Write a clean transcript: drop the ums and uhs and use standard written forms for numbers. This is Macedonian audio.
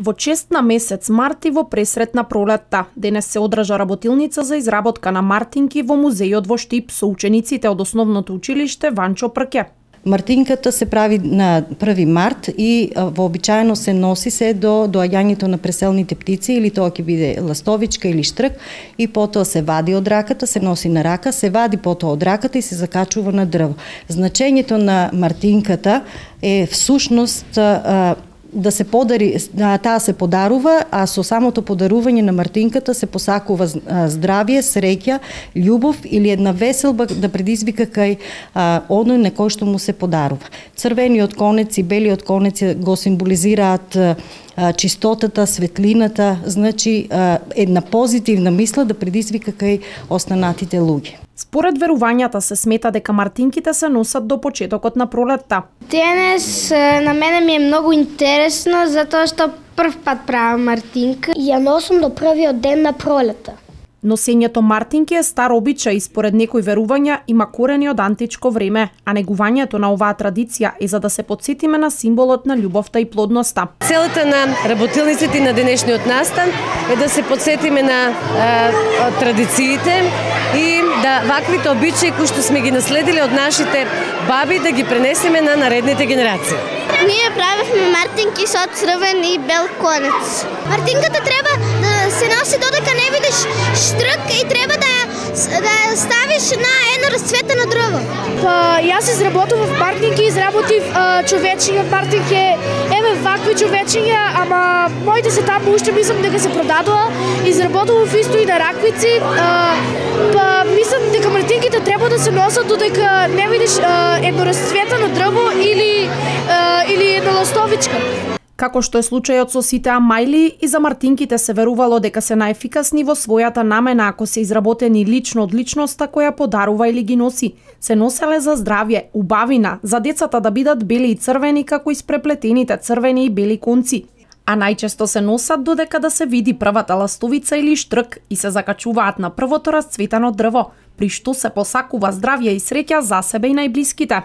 Во чест на месец март и во пресрет на пролетта, денес се одржа работилница за изработка на мартинки во музејот во Штип со учениците од основното училиште Ванчо Прке. Мартинката се прави на 1 март и вообичаено се носи се до доаѓањето на преселните птици, или тоа ќе биде ластовичка или штрк, и потоа се вади од раката, се носи на рака, се вади потоа од раката и се закачува на дрво. Значењето на мартинката е всушност да се подари, таа се подарува, а со самото подарување на мартинката се посакува здравје, среќа, љубов или една веселба да предизвика кај оној на кој што му се подарува. Црвениот конец и белиот конец го символизираат чистотата, светлината, значи една позитивна мисла да предизвика кај останатите луѓе. Според верувањата се смета дека мартинките се носат до почетокот на пролетта. Денес на мене ми е многу интересно затоа што прв пат правам мартинка и ја носам до првиот ден на пролета. Носењето мартинки е стар обичај и според некои верувања има корени од античко време, а негувањето на оваа традиција е за да се потсетиме на символот на љубовта и плодноста. Целата на работилниците на денешниот настан е да се потсетиме на традициите и да ваквите обичаи кои што сме ги наследиле од нашите баби да ги пренесеме на наредните генерации. Ние правевме мартинки со црвен и бел конец. Мартинката треба да се носи додека не видиш штрк и треба да ја ставиш на едно расцветено дрво. Јас изработував мартинки, изработив човечиња мартинки, еве вакви човечиња, ама моите се таму уште мислам дека се продадува. Изработував исто и на раквици, мислам дека мартинките треба да се носат додека не видиш едно расцветено дрво или една ластовичка. Како што е случајот со сите амајли, и за мартинките се верувало дека се најефикасни во својата намена ако се изработени лично од личноста која подарува или ги носи. Се носеле за здравје, убавина, за децата да бидат бели и црвени како испреплетените црвени и бели конци. А најчесто се носат додека да се види првата ластовица или штрк и се закачуваат на првото расцветано дрво, при што се посакува здравје и среќа за себе и најблиските.